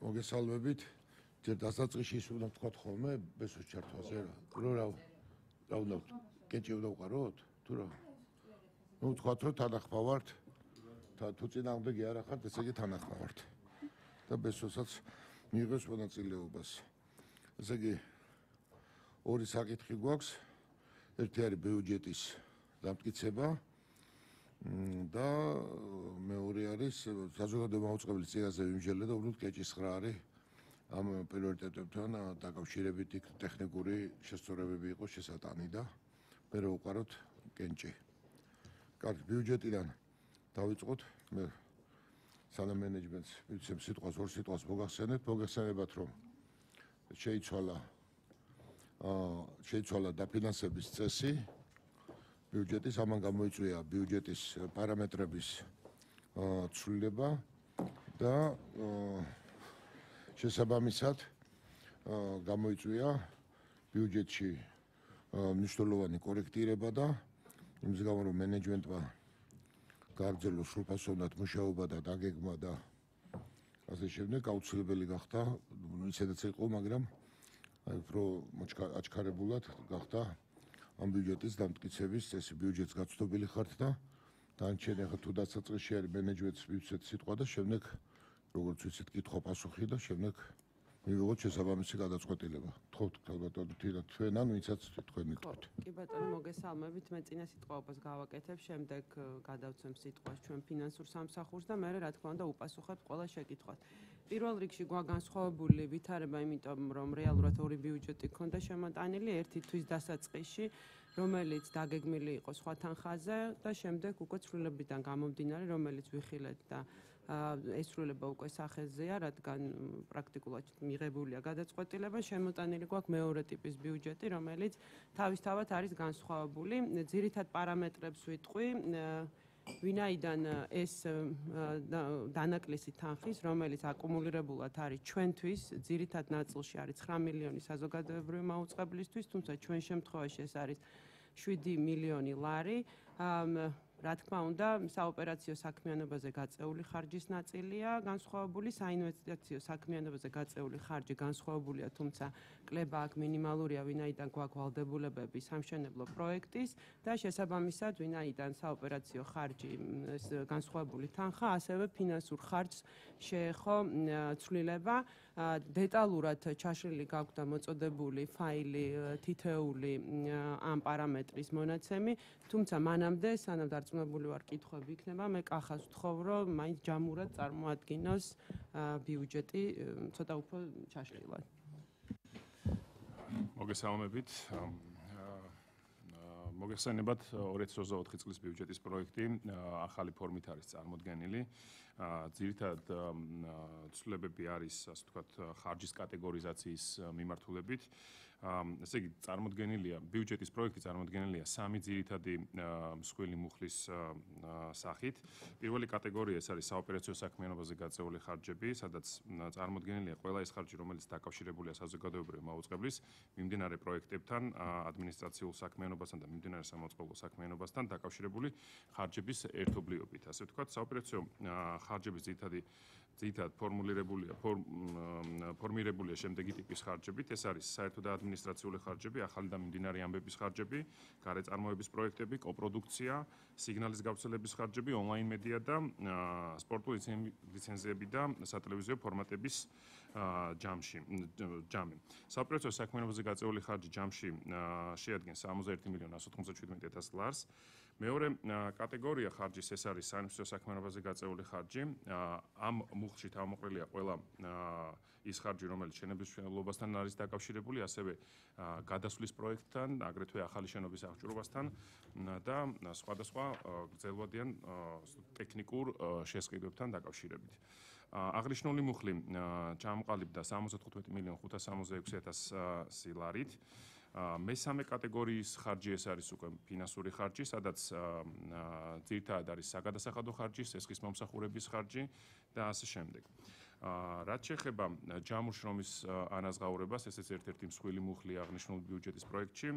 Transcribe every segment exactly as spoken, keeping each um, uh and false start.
მოგესალმებით. ჯერ დასაწყისში ის უნდა თქვათ ხოლმე ბესოს ჩართვაზე რა. რო რა რა უნდა კეჭი უნდა უყაროთ? თუ რა? ნუ თქვათ რომ თანახმა ვართ. თუ წინააღმდეგი არ ახართ, ესე იგი თანახმა ვართ. და ბესოსაც მიიღოს მონაწილეობას. ესე იგი ორი საკითხი გვაქვს. ერთი არის ბიუჯეტის დამტკიცება და მეორე არის საზოგადო მაუწყებლის წინაზე ვიმსჯელე და უბრალოდ კეჭის ხრა არის ამ პრიორიტეტებთან დაკავშირებით იქ ტექნიკური შესწორებები იყოს შესატანი და მე რო უყაროთ კენჭი. კარგი, ბიუჯეტიდან დავიწყოთ. მე სანამ მენეჯმენტს ვიცემ სიტყვას ორ სიტყვას მოგახსენებთ, მოგეხსენებათ რომ შეიცვალა აა შეიცვალა დაფინანსების წესი ბიუჯეტის, ამან გამოიწვია ბიუჯეტის პარამეტრების ცვლილება და შესაბამისად გამოიწვია ბიუჯეტში მნიშვნელოვანი კორექტირება და იმის გამო რომ მენეჯმენტმა გააგრძელო სრულფასოვნად მუშაობა და დაგეგმა და ასე შემდეგ აუცილებელი გახდა, ისედაც იყო, მაგრამ აი უფრო აჩქარებულად გახდა ამ ბიუჯეტის დამტკიცების წესი. ბიუჯეტს გაცნობილი ხართ და დანარჩენი ახლა თუ დასაწყისში არის მენეჯმენტს მივცეთ სიტყვა და შემდეგ როგორც ვიცით კითხვა პასუხი და შემდეგ მივიღოთ შესაბამისი გადაწყვეტილება. თხოვთ ქალბატონო თინა თქვენ ან ვინცაც თქვენ მითქვით. კი ბატონო მოგესალმებით. მე წინა სიტყვაობას გავაკეთებ, შემდეგ გადავცემ სიტყვას ჩვენ ფინანსურ სამსახურს და მე რა თქმა უნდა უპასუხებ ყველა შეკითხვას. პირველ რიგში გვა განსხვავებული ვითარება, იმიტომ რომ რეალურად ორი ბიუჯეტი ქონდა შემოტანილი, ერთი თვის დასაწყისში, რომელიც დაგეგმილი იყო სხვა თანხაზე და შემდეგ უკვე ცვლილებიდან გამომდინარე, რომელიც ვიხილეთ და ესრულება უკვე სახეზეა, რადგან პრაქტიკულად მიღებულია გადაწყვეტილება, შემოტანილი გვაქვს მეორე ტიპის ბიუჯეტი, რომელიც თავისთავად არის განსხვავებული. ძირითად პარამეტრებს ვიტყვი, ვინაიდან ეს დანაკლისი თანხის, რომელიც აკუმულირებულად არის ჩვენთვის, ძირითად ნაწილში არის ცხრა მილიონი საზოგადოებრივი მაუწყებლისთვის, თუმცა ჩვენ შემთხვევაში ეს არის შვიდი მილიონი ლარი. რა თქმა უნდა, საოპერაციო საქმიანობაზე გაწეული ხარჯის ნაწილია განსხვავებული, საინვესტიციო საქმიანობაზე გაწეული ხარჯი განსხვავებულია, თუმცა კლება აქ მინიმალურია, ვინაიდან გვაქვს ვალდებულებები სამშენებლო პროექტის და შესაბამისად, ვინაიდან საოპერაციო ხარჯი განსხვავებული თანხა, ასევე ფინანსურ ხარჯს შეეხო ცვლილება. დეტალურად ჩაშლილი გაქვთ და მოწოდებული ფაილი თითეული ამ პარამეტრის მონაცემი, თუმცა მანამდე სანამ დარწმუნებული ვარ კითხვები იქნება, მე კახას ვთხოვ, რომ მაინც ჯამურად წარმოადგინოს ბიუჯეტი ცოტა უფრო ჩაშლილად. მოგესალმებით. მოგეხსენებათ ორი ათი ოცდაოთხი წლის ბიუჯეტის პროექტი ახალი ფორმით არის წარმოდგენილი. ძირითადად ცვლილებები არის, ასე ვთქვათ, ხარჯის კატეგორიზაციის მიმართულებით. ესე იგი, წარმოდგენილია ბიუჯეტის პროექტი წარმოდგენილია სამი ძირითადი მსხვილი მუხლის სახით. პირველი კატეგორია ეს არის საოპერაციო საქმიანობაზე გაწეული ხარჯები, სადაც წარმოდგენილია ყველა ეს ხარჯი, რომელიც დაკავშირებულია საზოგადოებრივი მაუწყებლის მიმდინარე პროექტებთან, ადმინისტრაციულ საქმიანობასთან და მიმდინარე სამაუწყებლო საქმიანობასთან დაკავშირებული ხარჯების ერთობლიობით. ასე ვთქვათ, საოპერაციო ხარჯების ძირითადი ძირითადად ფორმულირებულია ფორმირებულია შემდეგი ტიპის ხარჯებით. ეს არის საერთო და ადმინისტრაციული ხარჯები, ახალი და მიმდინარე ამბების ხარჯები, გარეწარმოების პროექტები, კოპროდუქცია, სიგნალის გავრცელების ხარჯები, ონლაინ მედია და სპორტული ლიცენზიები და სატელევიზიო ფორმატების ჯამში ჯამი. საოპერაციო საქმიანობაზე გაწეული ხარჯი ჯამში შეადგენს სამოცდაერთი მილიონი ასი ოცდაათი ათას ლარს. მეორე კატეგორია ხარჯის ეს არის საინვესტიციო საქმიანობაზე გაწეული ხარჯი. ამ მუხლში თავმოყრილია ყველა ის ხარჯი, რომელიც შენობის მშენებლობასთან არის დაკავშირებული, ასევე გადასვლის პროექტთან, აგრეთვე ახალი შენობის აღჭურვასთან და სხვადასხვა გრძელვადიან ტექნიკურ შესყიდვებთან დაკავშირებით. აღნიშნული მუხლი ჩამოყალიბდა სამოცდათხუთმეტი მილიონი ხუთას სამოცდაექვსი ათასი ლარით. მესამე კატეგორიის ხარჯი ეს არის უკვე ფინანსური ხარჯი, სადაც ძირითადად არის საგადასახადო ხარჯი, სესხის მომსახურების ხარჯი და ასე შემდეგ. რაც შეეხება ჯამურ შრომის ანაზღაურებას, ესეც ერთ-ერთი მსხვილი მუხლი აღნიშნული ბიუჯეტის პროექტში.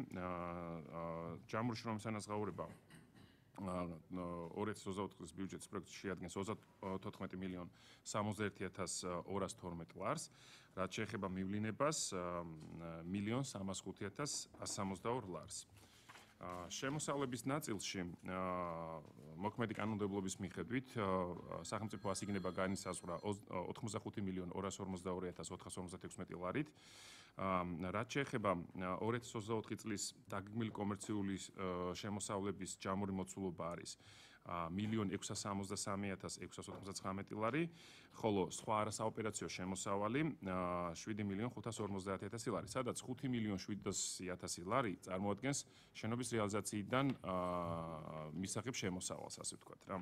ჯამურ შრომის ანაზღაურება ორი ათას ოცდაოთხ წლის ბიუჯეტის პროექტი შეადგენს ოცდათოთხმეტი მილიონ სამოცდაერთი ათას ორას თორმეტ ლარს, რაც შეეხება მივლინებას მილიონ სამას ხუთი ათას ათს სამოცდაორ ლარს. შემოსავლების ნაწილში მოქმედი კანონმდებლობის მიხედვით სახელმწიფო ასიგნება განისაზღვრა ოთხმოცდახუთი მილიონ ორას ორმოცდაორი ათას ოთხას ორმოცდათექვსმეტი ლარით. რაც შეეხება ორი ათას ოცდაოთხი წლის დაგეგმილი კომერციული შემოსავლების ჯამური მოცულობა არის მილიონ ექვსას სამოცდასამი ათას ექვსას ოთხმოცდაცხრამეტი ლარი, ხოლო სხვა არასაოპერაციო შემოსავალი შვიდი მილიონ ხუთას ორმოცდაათი ათასი ლარი, სადაც ხუთი მილიონ შვიდასი ათასი ლარი წარმოადგენს შენობის რეალიზაციიდან მისაღებ შემოსავალს, ასე ვთქვათ რა.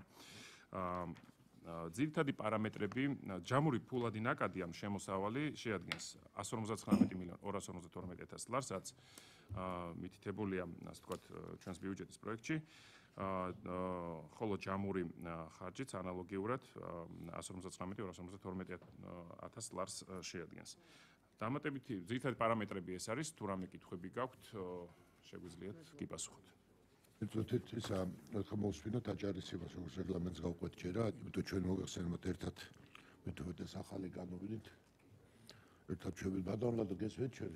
ძირითადი პარამეტრები, ჯამური ფულადი ნაკადი ამ შემოსავალი შეადგენს εκατს ორმოცდაცხრამეტი მილიონ ორას ორმოცდათორმეტი ათას ლარს, რაც მითითებულია, ასე ვთქვათ, ჩვენს ბიუჯეტის პროექტში. ხოლო ჯამური ხარჯიც ანალოგიურად εκατს ორმოცდაცხრამეტი ორას ორმოცდათორმეტი ათას ლარს შეადგენს. დამატებითი ძირითადი პარამეტრები ეს არის, თუ რამე კითხვები გაქვთ, შეგვიძლიათ გიპასუხოთ. ეცოდეთ ისა ხმოვსვინოთ აჯარისებას, როგორც რეგლამენტს გავყვეთ ჯერა, იმიტომ ჩვენ მოგეხსენებათ ერთად მეთოდე ახალი განუვიდით. ერთად ჩვენ გადავლადო გესვეთ ჩვენ.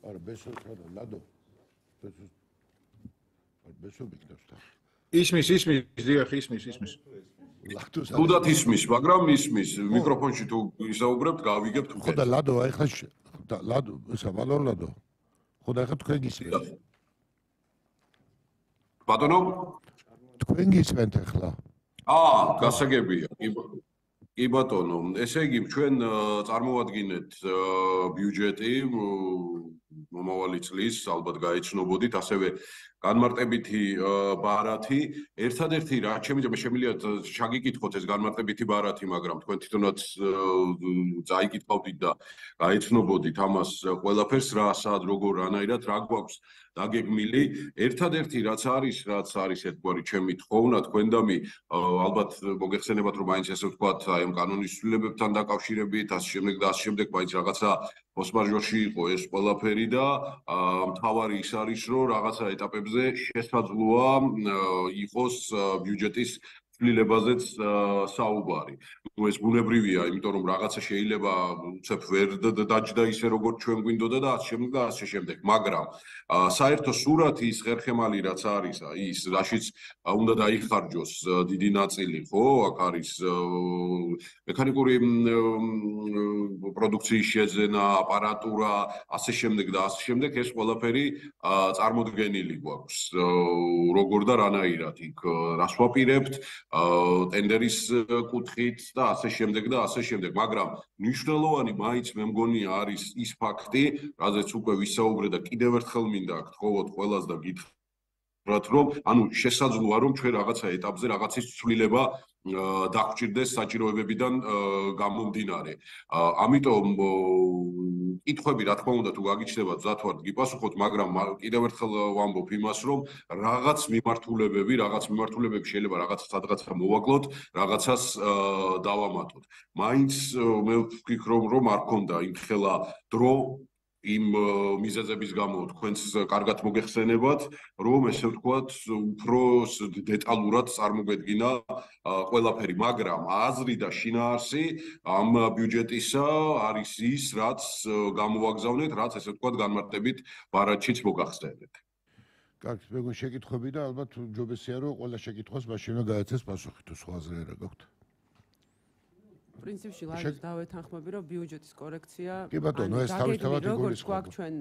არა, ბესო ხადა, ლადო. ბესო. არა, ბესო მიქნევს და. ისმის, ისმის, დიახ, ისმის, ისმის. ლადო. თუდად ისმის, მაგრამ ისმის, მიკროფონში თუ ისაუბრებთ, გავიგებთ ხო და ლადო, აი ხა ლადო, ისა ვალორ ლადო. ხოდა ახლა თქვენ გისმენთ. ბატონო? თქვენ გისმენთ ახლა. აა, გასაგებია. კი ბატონო, ესე იგი ჩვენ წარმოვადგინეთ ბიუჯეტი მომავალი წლის, ალბათ გაეცნობოდით, ასევე განმარტებითი ბარათი. ერთადერთი რაც შემიძლია შემიძლია შეგიკითხოთ ეს განმარტებითი ბარათი, მაგრამ თქვენ თვითონაც წაიკითხავდით და გაეცნობოდით ამას ყველაფერს, რა სად როგორ რანაირად რა გვაქვს დაგეგმილი. ერთადერთი რაც არის, რაც არის ერთგვარი ჩემი თხოვნა თქვენდამი, ალბათ მოგეხსენებათ რომ მაინც ესე ვთქვათ, აი ამ კანონის ცვლილებებთან დაკავშირებით, ასე შემდეგ და ასე შემდეგ, მაინც რაღაცა ფოსმაჟორში იყო ეს ყველაფერი და მთავარი ის არის, რომ რაღაცა ეტაპებზე შესაძლოა იყოს ბიუჯეტის ცვლილებაზეც საუბარი. ნუ ეს ბუნებრივია, იმიტომ რომ რაღაცა შეიძლება უცებ ვერ დაჯდა ისე როგორც ჩვენ გვინდოდა და ასე შემდეგ და ასე შემდეგ, მაგრამ საერთო სურათი ის ხერხემალი რაც არის, ის რაშიც უნდა დაიხარჯოს დიდი ნაწილი, ხო? აქ არის მექანიკური პროდუქციის შეძენა, აპარატურა, ასე შემდეგ და ასე შემდეგ, ეს ყველაფერი წარმოდგენილი გვაქვს. როგორ და რანაირად იქ რას ვაპირებთ, ტენდერის კუთხით და ასე შემდეგ და ასე შემდეგ, მაგრამ მნიშვნელოვანი მაინც მე მგონია არის ის ფაქტი, რაზეც უკვე ვისაუბრე და კიდევ ერთხელ მინდა გთხოვოთ ყველას და გითხრათ, რომ ანუ შესაძლოა რომ ჩვენ რაღაცა ეტაპზე რაღაცის ცვლილება დაგვჭირდეს საჭიროებებიდან გამომდინარე. ამიტომ კითხვები რა თქმა უნდა თუ გაგიჩნდებათ ზათვართ გიპასუხოთ, მაგრამ კიდევ ერთხელ ვამბობ იმას, რომ რაღაც მიმართულებები, რაღაც მიმართულებები შეიძლება რაღაც სადღაცა მოვაკლოთ, რაღაცას დავამატოთ. მაინც მე ვფიქრობ, რომ არ ქონდა იმხელა დრო იმ მიზეზების გამო თქვენს კარგად მოგეხსენებათ, რომ ესე ვთქვათ, უფრო დეტალურად წარმოგვედგინა ყველაფერი, მაგრამ აზრი და შინაარსი ამ ბიუჯეტისა არის ის, რაც გამოვაგზავნეთ, რაც ესე ვთქვათ, განმარტებით ბარათშიც მოგახსენეთ. კარგი, მეგონ შეკითხვები და ალბათ ჯობესია, რომ ყველა შეკითხვას მაშინ უნდა გაეცეს პასუხი, თუ სხვა აზრი არა გაქვთ. პრინციპში ლაჟს დავეთანხმები, რომ ბიუჯეტის კორექცია კი ბატონო, ეს თავისთავად როგორც გვაქვს ჩვენ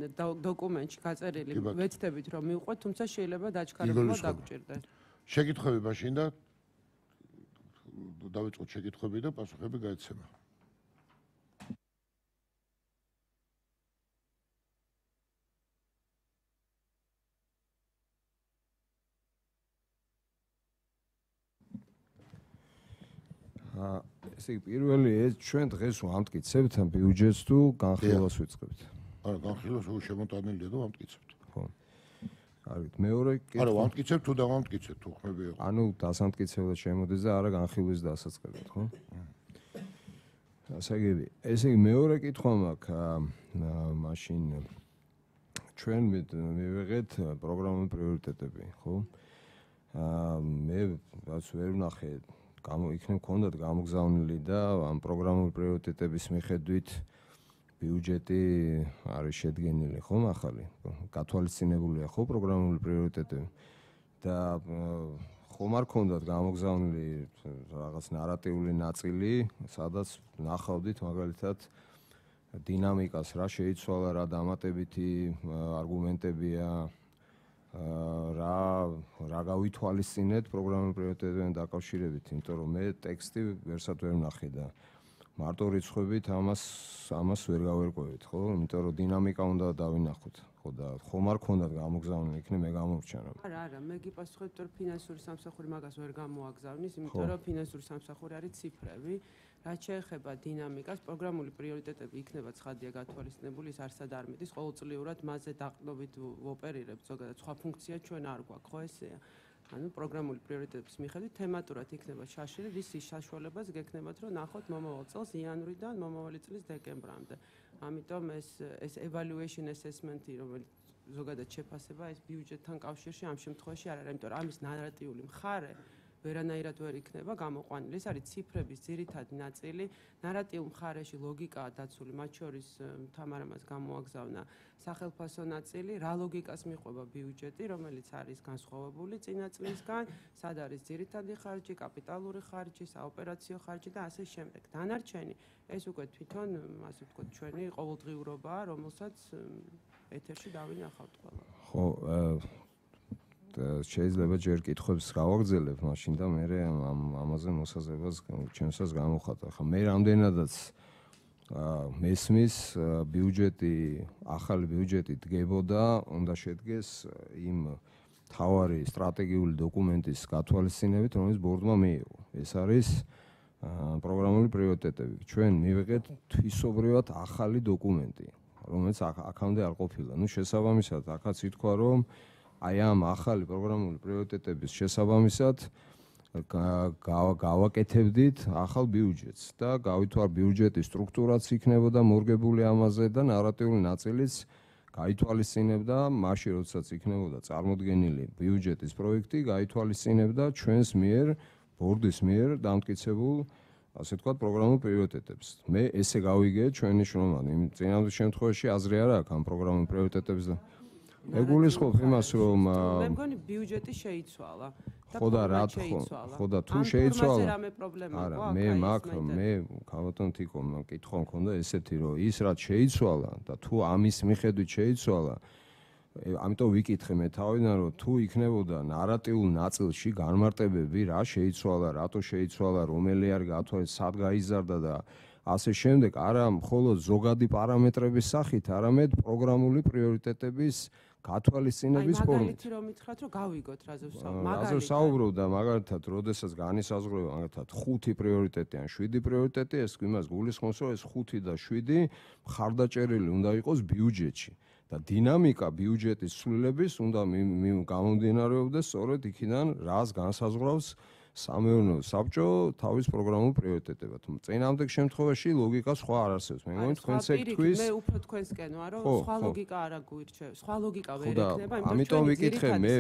დოკუმენტში გაწერილი, ვეცდებით რომ მივყვეთ, თუმცა შეიძლება დაჩქარებულად დაგვჭირდეს. შეკითხვები მაშინ და დავიწყოთ შეკითხვები და პასუხები გაეცემა. ესე იგი პირველი ეს ჩვენ დღეს ვამტკიცებთ ამ ბიუჯეტს თუ განხილვას ვიწყებთ? არა, განხილვას უ შემოტანილია და ვამტკიცებთ. ხო. კარგით, მეორე კითხვა. არა, ვამტკიცებთ თუ დავამტკიცებთ, თუ ხმები იყო. ანუ დასამტკიცებლად შემოდის და არა განხილვის დასაწყებად, ხო? ასე იგი, ესე იგი მეორე კითხვა მაქვს, მაშინ ჩვენ მივიღეთ პროგრამული პრიორიტეტები, ხო? აა მე რაც ვერ ვნახე, გამო იქნებ კონდათ გამოგზავნილი და ამ პროგრამული პრიორიტეტების მიხედვით ბიუჯეტი არის შედგენილი, ხო, ახალი. გათვალისწინებულია ხო პროგრამული პრიორიტეტები და ხომ არ კონდათ გამოგზავნილი რაღაც ნარატიული ნაწილი, სადაც ნახავდით მაგალითად დინამიკას რა შეიცვალა, რა დამატებითი არგუმენტებია, რა რა გავითვალისწინეთ პროგრამულ პრიორიტეტებთან დაკავშირებით, იმიტომ რომ მე ტექსტი ვერსად ვერ ვნახე და მარტო რიცხვებით ამას ამას ვერ გავერკვევით, ხო? იმიტომ რომ დინამიკა უნდა დავინახოთ, ხო და ხომ არ ქონდათ გამოგზავნილი, იქნებ მე გამოვრჩენა. არა, არა, მე გიპასუხებ, რომ ფინანსური სამსახური მაგას ვერ გამოაგზავნის, იმიტომ რომ ფინანსური სამსახური არის ციფრები. რაც შეეხება დინამიკას, პროგრამული პრიორიტეტები იქნება ცხადია გათვალისწინებული, ის არსად არ მიდის, ყოველწლიურად მასზე დაყრდნობით ვოპერირებთ, ზოგადად სხვა ფუნქცია ჩვენ არ გვაქვს, ხო ესეა? ანუ პროგრამული პრიორიტეტების მიხედვით თემატურად იქნება შაშილი, რის საშუალებას გექნებათ, რომ ნახოთ მომავალ წელს იანვრიდან მომავალი წლის დეკემბრამდე. ამიტომ ეს ეს evaluation assessment-ი, რომელიც ზოგადად შეფასება ეს ბიუჯეტთან კავშირში ამ შემთხვევაში არ არის, იმიტომ რომ ამის ნარატიული მხარე ვერანაირად ვერ იქნება გამოყვანილი. ეს არის ციფრების ძირითადი ნაწილი. ნარატიულ მხარეში ლოგიკაა დაცული, მათ შორის თამარამას გამოაგზავნა სახელფასო ნაწილი, რა ლოგიკას მიყვება ბიუჯეტი, რომელიც არის განსხვავებული წინა წლისგან, სად არის ძირითადი ხარჯი, კაპიტალური ხარჯი, საოპერაციო ხარჯი და ასე შემდეგ. დანარჩენი ეს უკვე თვითონ, ასე ვთქვათ, ჩვენი ყოველდღიურობაა, რომელსაც ეთერში დავინახავთ ყველა. ხო, შეიძლება ჯერ კითხვებს გავაგრძელებ, მაშინ და მე ამ ამაზე მოსაზრებას ჩემსაც გამოვხატა. ხა მე რამდენადაც მესმის ბიუჯეტი, ახალი ბიუჯეტი დგებოდა, უნდა შედგეს იმ თავარი სტრატეგიული დოკუმენტის გათვალისწინებით, რომელიც ბორდმა მიიღო. ეს არის პროგრამული პრიორიტეტები. ჩვენ მივიღეთ თვისობრივად ახალი დოკუმენტი, რომელიც აქამდე არ ყოფილა. ნუ შესაბამისად, აქაც ითქვა, რომ აი ამ ახალი პროგრამული პრიორიტეტების შესაბამისად გავაკეთებდით ახალ ბიუჯეტს და გავითვალ ბიუჯეტის სტრუქტურაც იქნებოდა მორგებული ამაზე და ნარატიული ნაწილიც გაითვალისწინებდა მაშინ, როდესაც იქნებოდა წარმოდგენილი ბიუჯეტის პროექტი, გაითვალისწინებდა ჩვენს მიერ, ბორდის მიერ დამტკიცებულ, ასე ვთქვათ, პროგრამულ პრიორიტეტებს. მე ესე გავიგე ჩვენი შრომანი, იმ წინამძღოლ შემთხვევაში აზრი არ აქვს ამ პროგრამულ პრიორიტეტებს და ეგულისხმობ იმას, რომ მე მგონი ბიუჯეტი შეიცვალა და ხო და რა ხო და თუ შეიცვალა არა მე მაგ მე ქალბატონ თიკო მკითხვა მქონდა ესეთი რომ ის რაც შეიცვალა და თუ ამის მიხედვით შეიცვალა ამიტომ ვიკითხე მე თავიდან რომ თუ იქნებოდა ნარატიულ ნაწილში განმარტებები რა შეიცვალა, რატო შეიცვალა, რომელი არის გათვალისწინებული, სად გაიზარდა და ასე შემდეგ, არა მხოლოდ ზოგადი პარამეტრების სახით, არამედ პროგრამული პრიორიტეტების გათვალისწინების ფორმით. მაგალითი რომ მითხრათ, რომ გავიგოთ რაზე ვსაუბრობ. რაზე ვსაუბრობ და მაგალითად, როდესაც განისაზღვრება მაგალითად ხუთი პრიორიტეტი ან შვიდი პრიორიტეტი, ეს იმას გულისხმობს, რომ ეს ხუთი და შვიდი მხარდაჭერილი უნდა იყოს ბიუჯეტში. და დინამიკა ბიუჯეტის ცვლილების უნდა გამომდინარეობდეს სწორედ იქიდან, რას განსაზღვრავს სამეურნეო საბჭო თავის პროგრამულ პრიორიტეტებად. წინამდეგ შემთხვევაში ლოგიკა სხვა არ არსებობს. მე მგონი თქვენც ეგ თქვის. მე უფრო თქვენსკენ ვარ, რომ სხვა ლოგიკა არ აგვირჩევ. სხვა ლოგიკა ვერ ექნება, ამიტომ ვიკითხე მე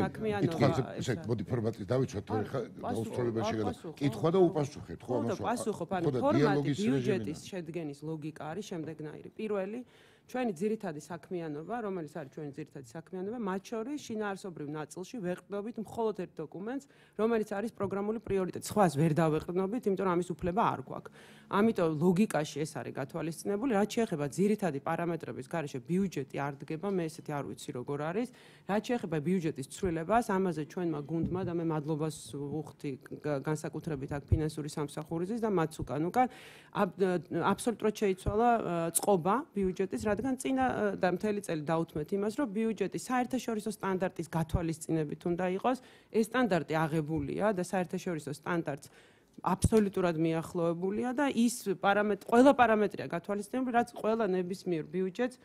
კითხავს ესე მოდი ფორმატის დავიცვათ, თორე ხა დაუსრულებაში გადა. კითხვა და უპასუხეთ, ხო ამას. ხო, პასუხობ, ანუ ფორმატი ბიუჯეტის შედგენის ლოგიკა არის შემდეგნაირი. პირველი ჩვენი ძირითადი საქმიანობა, რომელიც არის ჩვენი ძირითადი საქმიანობა, მათ შორის შინაარსობრივ ნაწილში ვეყრდნობით მხოლოდ ერთ დოკუმენტს, რომელიც არის პროგრამული პრიორიტეტი. სხვას ვერ დავეყრდნობით, იმიტომ რომ ამის უფლება არ გვაქვს. ამიტომ ლოგიკაში ეს არის გათვალისწინებული, რაც შეეხება ძირითადი პარამეტრების გარეშე ბიუჯეტი არ დგება, მე ესეთი არ ვიცი როგორ არის. რაც შეეხება ბიუჯეტის ცვლილებას, ამაზე ჩვენმა გუნდმა და მე მადლობას ვუხდი განსაკუთრებით აქ ფინანსური სამსახურისთვის და მაც უკან უკან აბსოლუტურად შეიცვალა წყობა ბიუჯეტის, რადგან წინა და მთელი წელი დაუთმეთ იმას, რომ ბიუჯეტი საერთაშორისო სტანდარტის გათვალისწინებით უნდა იყოს. ეს სტანდარტი აღებულია და საერთაშორისო სტანდარტს აბსოლუტურად მიახლოებულია და ის პარამეტრი, ყველა პარამეტრია გათვალისწინებული, რაც ყველა ნებისმიერ ბიუჯეტს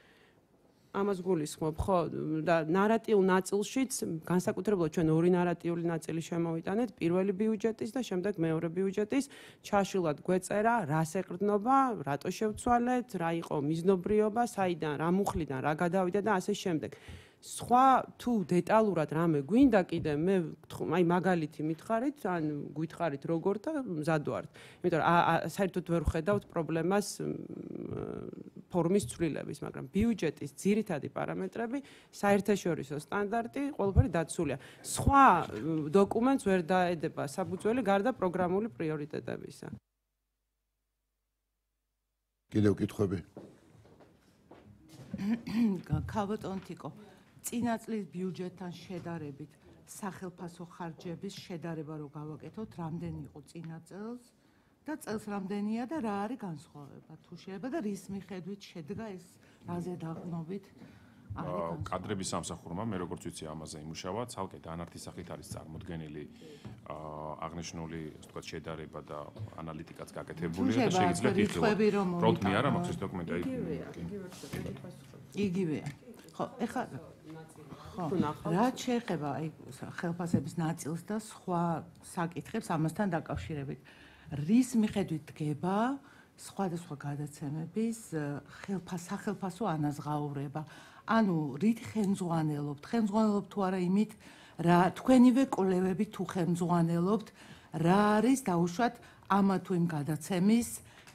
ამას გულისხმობ, ხო, და ნარატიულ ნაწილშიც განსაკუთრებულად ჩვენ ორი ნარატიული ნაწილი შემოვიტანეთ, პირველი ბიუჯეტის და შემდეგ მეორე ბიუჯეტის, ჩაშილად გვეწერა, რას ეყრდნობა, რატო შევცვალეთ, რა იყო მიზნობრიობა, საიდან, რა მუხლიდან, რა გადავიდა და ასე შემდეგ. სხვა თუ დეტალურად რამე გვინდა კიდე მე აი მაგალითი მითხარით, ან გითხარით როგორ და მზად ვართ. იმიტომ რომ საერთოდ ვერ ვხედავთ პრობლემას ფორმის ცვლილების, მაგრამ ბიუჯეტის ძირითადი პარამეტრები, საერთაშორისო სტანდარტი, ყველაფერი დაცულია. სხვა დოკუმენტს ვერ დაედება საფუძველი გარდა პროგრამული პრიორიტეტებისა. კიდევ კითხვები? ქალბატონთიკო, წინა წლის ბიუჯეტთან შედარებით სახელმწიფო ხარჯების შედარება რო გავაკეთოთ, რამდენი იყო წინა წელს და წელს რამდენია და რა არის განსხვავება თუ შეიძლება და რის მიხედვით შედგა ეს რაზე დაყნობით არის კადრების სამსახურმა, მე როგორც ვიცი ამაზე იმუშავა, ცალკე დანართი სახით არის წარმოდგენილი აღნიშნული, ასე ვთქვათ, შედარება და ანალიტიკაც გაკეთებული და შეიძლება ითხოვება. პროტმი არა მაქვს ეს დოკუმენტი აი იგივეა. ხო, ეხლა ხო, რაც შეეხება აი ხელფასების ნაწილს და სხვა საკითხებს ამასთან დაკავშირებით, რის მიხედვით დგება სხვადასხვა გადაცემების ხელფასახელფასო ანაზღაურება? ანუ რით ხელმძღვანელობთ? ხელმძღვანელობთ თუ არა იმით, რა თქვენივე კვლევები თუ ხელმძღვანელობთ, რა არის დაუშვათ ამა თუ იმ გადაცემის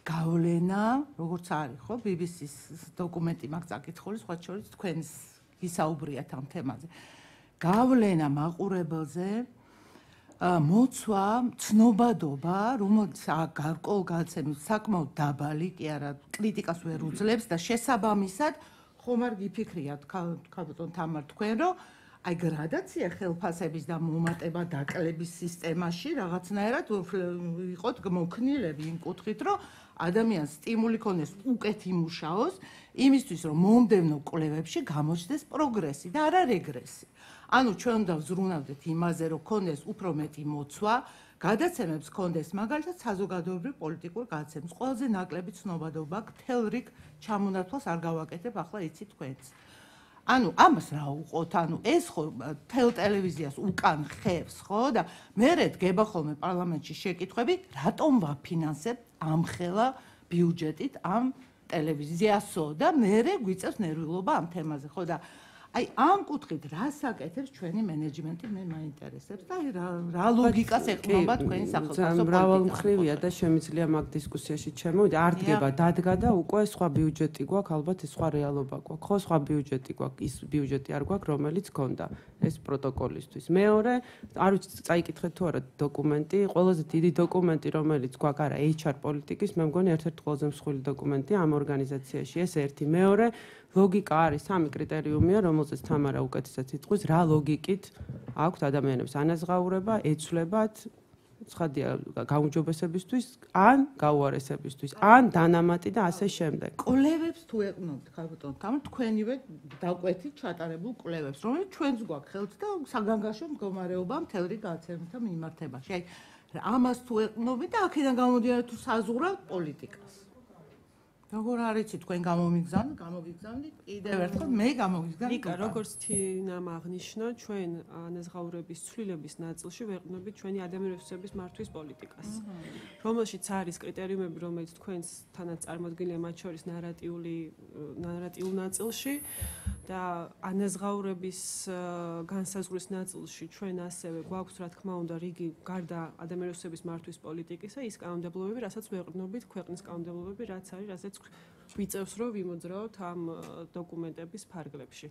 გავლენა, როგორც არის, ხო, ბი ბი სის დოკუმენტი მაქვს წაკითხული, სხვა შორის თქვენს ისაუბრიათ ამ თემაზე. გავლენა მაყურებელზე, მოცვა, ცნობადობა, რომელიც გარკვეულ გადაცემის საკმაოდ დაბალი, კი არა, კრიტიკას ვერ უძლებს და შესაბამისად ხომ არ გიფიქრიათ, ქალბატონ თამარ, თქვენ რომ აი გრადაცია ხელფასების და მომატება დაკლების სისტემაში რაღაცნაირად იყოთ მოქნილები იმ კუთხით, რომ ადამიანს სტიმული ქონდეს უკეთ იმუშაოს, იმისთვის რომ მომდევნო კვლევებში გამოჩნდეს პროგრესი და არა რეგრესი. ანუ ჩვენ უნდა ვზრუნავდეთ იმაზე, რომ ქონდეს უფრო მეტი მოცვა, გადაცემებს ქონდეს მაგალითად საზოგადოებრივ პოლიტიკურ გადაცემებს. ყველაზე ნაკლები ცნობადობა აქვს, მთელ რიგ ჩამონათვალს არ გავაკეთებ, ახლა იცი თქვენც. ანუ ამას რა უყოთ, ანუ ეს ხო თელ ტელევიზიას უკან ხევს, ხო და მერე დგება ხოლმე პარლამენტში შეკითხვები, რატომ ვაფინანსებთ ამხელა ბიუჯეტით ამ ტელევიზიასო და მერე გვიწევს ნერვიულობა ამ თემაზე, ხო და აი ამ კუთხით რას აკეთებს ჩვენი მენეჯმენტი მე მაინტერესებს და აი რა ლოგიკას ეყრდნობა თქვენი სახელმწიფო პოლიტიკა. მრავალმხრივია და შემიძლია მაგ დისკუსიაში ჩემოვიდე, არ დგება, დადგა და უკვე სხვა ბიუჯეტი გვაქვს, ალბათ ეს სხვა რეალობა გვაქვს. ხო, სხვა ბიუჯეტი გვაქვს, ის ბიუჯეტი არ გვაქვს, რომელიც გქონდა ეს პროტოკოლისთვის. მეორე, არ ვიცი, წაიკითხეთ თუ არა დოკუმენტი, ყველაზე დიდი დოკუმენტი, რომელიც გვაქვს, არა, ეიჩ არ პოლიტიკის, მე მგონი ერთ-ერთი ყველაზე მსხვილი დოკუმენტია ამ ორგანიზაციაში. ეს ერთი, მეორე ლოგიკა არის სამი კრიტერიუმია, რომელზეც თამარა უკეთესად იტყვის, რა ლოგიკით აქვთ ადამიანებს ანაზღაურება, ეცვლებათ, ცხადია, გაუმჯობესებისთვის, ან გაუარესებისთვის, ან დანამატი და ასე შემდეგ. კვლევებს თუ ეყნობთ, ქალბატონ თამარ, თქვენივე დაკვეთით ჩატარებულ კვლევებს, რომელიც ჩვენც გვაქვს ხელთ და საგანგაშო მდგომარეობა მთელ რიგ გადაცემებთან მიმართებაში. აი, ამას თუ ეყნობით და აქედან გამოდიარეთ თუ საზღვრავთ პოლიტიკას. როგორ არიცი თქვენ გამომიგზავნით, გამოგიგზავნით, კიდევ ერთხელ მე გამოგიგზავნით. ნიკა, როგორც თინამ აღნიშნა, ჩვენ ანაზღაურების ცვლილების ნაწილში ვეყნობით ჩვენი ადამიანების რესურსების მართვის პოლიტიკას, რომელშიც არის კრიტერიუმები, რომელიც თქვენს თანაც წარმოდგენილია მათ შორის ნარატიული ნარატიულ ნაწილში და ანაზღაურების განსაზღვრის ნაწილში ჩვენ ასევე გვაქვს, რა თქმა უნდა, რიგი გარდა ადამიანების რესურსების მართვის პოლიტიკისა, ის კანონმდებლობები, რასაც ვეყნობით, ქვეყნის კანონმდებლობები, რაც არის, რასაც ვიწევს რომ ვიმოძრაოთ ამ დოკუმენტების ფარგლებში.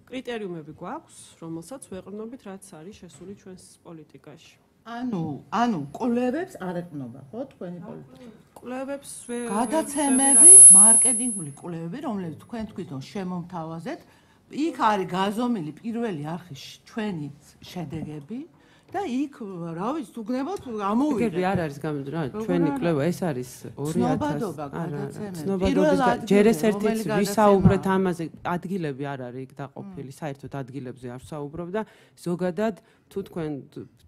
კრიტერიუმები გვაქვს, რომელსაც ვეყრდნობით, რაც არის შესული ჩვენს პოლიტიკაში. ანუ, ანუ კვლევებს არ ეყნობა, ხო, თქვენი პოლიტიკა? კვლევებს გადაცემები, მარკეტინგული კვლევები, რომლებიც თქვენ თვითონ შემომთავაზეთ, იქ არის გაზომილი პირველი არხის ჩვენი შედეგები. და იქ რა ვიცი თუ გნებოთ ამოვიდა. ეგრე არ არის გამოდრა, ჩვენი კვლევა ეს არის ორი ათასი. ცნობადობა გადაცემები. ცნობადობის ჯერ ეს ერთი ვისაუბრეთ ამაზე, ადგილები არ არის იქ დაყოფილი, საერთოდ ადგილებზე არ ვსაუბრობ და ზოგადად თუ თქვენ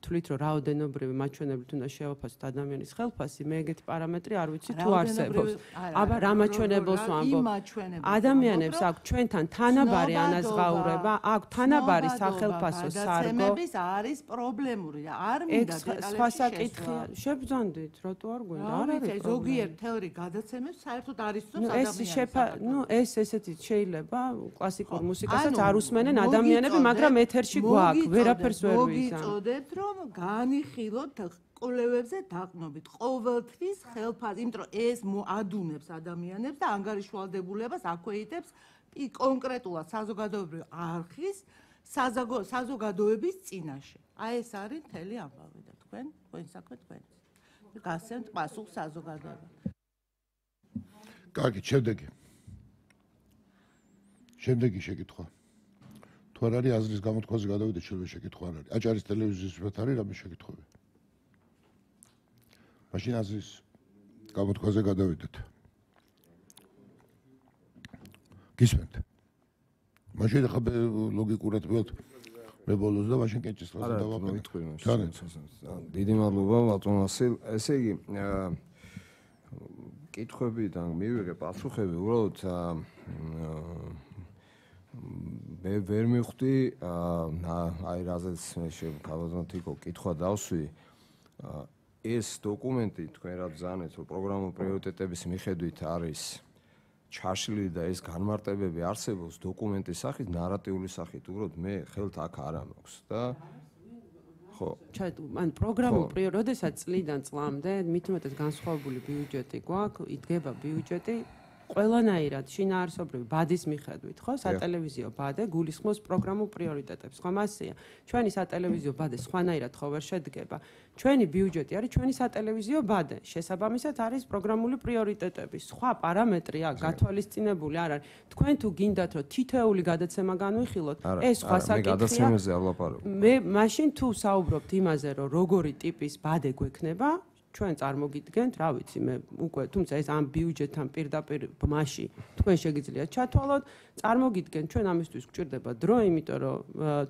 თვლით რომ რაოდენობრივი მაჩვენებლით უნდა შევაფასოთ ადამიანის ხელფასი, მე ეგეთი პარამეტრი არ ვიცი თუ არსებობს. აბა რა მაჩვენებელს ვამბობ? ადამიანებს აქვს ჩვენთან თანაბარი ანაზღაურება, აქვს თანაბარი სახელფასო სარგო. გადაცემების არის პრობლემური და არ მინდა დეტალებში სხვა საკითხია. შებრძანდით, რატო არ გვინდა? არ არის პრობლემა. ზოგიერთ თეორი გადაცემებს საერთოდ არის თუ ადამიანს. ნუ ეს ესეთი შეიძლება კლასიკურ მუსიკასაც არ უსმენენ ადამიანები, მაგრამ ეთერში გვაქვს, ვერაფერს ვერ ვიზამ. მოგიწოდებთ რომ განიხილოთ კვლევებზე დაყნობით ყოველთვის ხელფასი, იმიტომ რომ ეს ადუნებს ადამიანებს და ანგარიშვალდებულებას აქვეითებს კონკრეტულად საზოგადოებრივი არხის საზოგადოების წინაშე. აი ეს არის მთელი ამბავი და თქვენ, თქვენ საქმე თქვენ. გასცემთ პასუხს საზოგადოებამ. კარგი, შემდეგი. შემდეგი შეკითხვა. თუ არ არის აზრის გამოთქვაზე გადავიდეთ, შეიძლება შეკითხვა არ არის. აჭარის ტელევიზიის მიმართ არის რამე შეკითხვები? მაშინ აზრის გამოთქვაზე გადავიდეთ. გისმენთ. მაშინ ახლა ლოგიკურად ვიყოთ მე ბოლოს და მაშინ კენჭის ხაზი დავაკეთე. დიდი მადლობა ბატონ ვასილ. ესე იგი კითხვებიდან მივიღე პასუხები, უბრალოდ მე ვერ მივხვდი აი რაზეც მე შევკავაზნათიკო კითხვა დავსვი. ეს დოკუმენტი თქვენ რა ბრძანეთ, რომ პროგრამულ პრიორიტეტების მიხედვით არის ჩაშლილი და ეს განმარტებები არსებობს დოკუმენტის სახით, ნარატიული სახით, უბრალოდ მე ხელთ აქ არ ამაქვს და ხო. ან პროგრამულ პრიორიტეტებს, როდესაც წლიდან წლამდე მით უმეტეს განსხვავებული ბიუჯეტი გვაქვს, იდგება ბიუჯეტი ყველანაირად შინაარსობრივი ბადის მიხედვით, ხო? სატელევიზიო ბადე გულისხმობს პროგრამულ პრიორიტეტებს. ხომ ასეა? ჩვენი სატელევიზიო ბადე სხვანაირად ხო ვერ შედგება. ჩვენი ბიუჯეტი არის ჩვენი სატელევიზიო ბადე. შესაბამისად არის პროგრამული პრიორიტეტები. სხვა პარამეტრი აქვს გათვალისწინებული არ არის. თქვენ თუ გინდათ რომ თითოეული გადაცემა განვიხილოთ, ეს სხვა საკითხია. მე გადაცემაზე არ ვლაპარაკობ. მე მაშინ თუ საუბრობთ იმაზე, რომ როგორი ტიპის ბადე გვექნება, ჩვენ წარმოგიდგენთ, რა ვიცი, მე უკვე თუმცა ეს ამ ბიუჯეტთან პირდაპირ ბმაში თქვენ შეგიძლიათ ჩათვალოთ, წარმოგიდგენთ, ჩვენ ამისთვის გვჭირდება დრო, იმიტომ რომ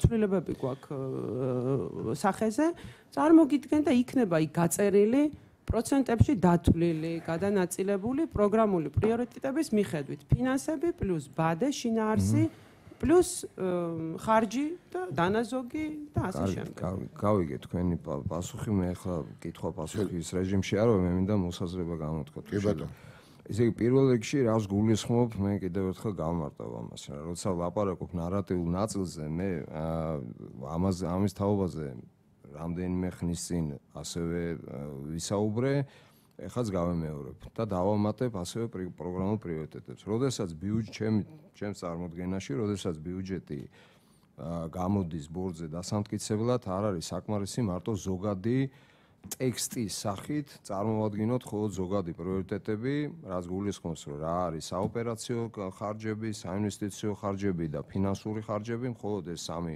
ცვლილებები გვაქვს სახეზე, წარმოგიდგენთ და იქნება იქ გაწერილი პროცენტებში დათვლილი, გადანაწილებული პროგრამული პრიორიტეტების მიხედვით, ფინანსები პლუს ბადე, შინაარსი პლუს ხარჯი და დანაზოგი და ასე შემდეგ. გავიგე თქვენი პასუხი, მე ახლა კითხვა პასუხის რეჟიმში არ ვარ, მე მინდა მოსაზრება გამოთქვა. კი ბატონო. ესე იგი პირველ რიგში რას გულისხმობ, მე კიდევ ერთხელ გავმარტავ ამას, როცა ვლაპარაკობ ნარატიულ ნაწილზე, მე ამაზე ამის თაობაზე რამდენიმე ხნის წინ ასევე ვისაუბრე, ეხაც გავემეორებ და დავამატებ ასევე პროგრამულ პრიორიტეტებს. როდესაც ბიუჯეტი ჩემ ჩემს წარმოდგენაში, როდესაც ბიუჯეტი გამოდის ბორდზე დასამტკიცებლად, არ არის საკმარისი მარტო ზოგადი ტექსტის სახით წარმოვადგინოთ მხოლოდ ზოგადი პრიორიტეტები, რაც გულისხმობს, რომ რა არის საოპერაციო ხარჯები, საინვესტიციო ხარჯები და ფინანსური ხარჯები, მხოლოდ ეს სამი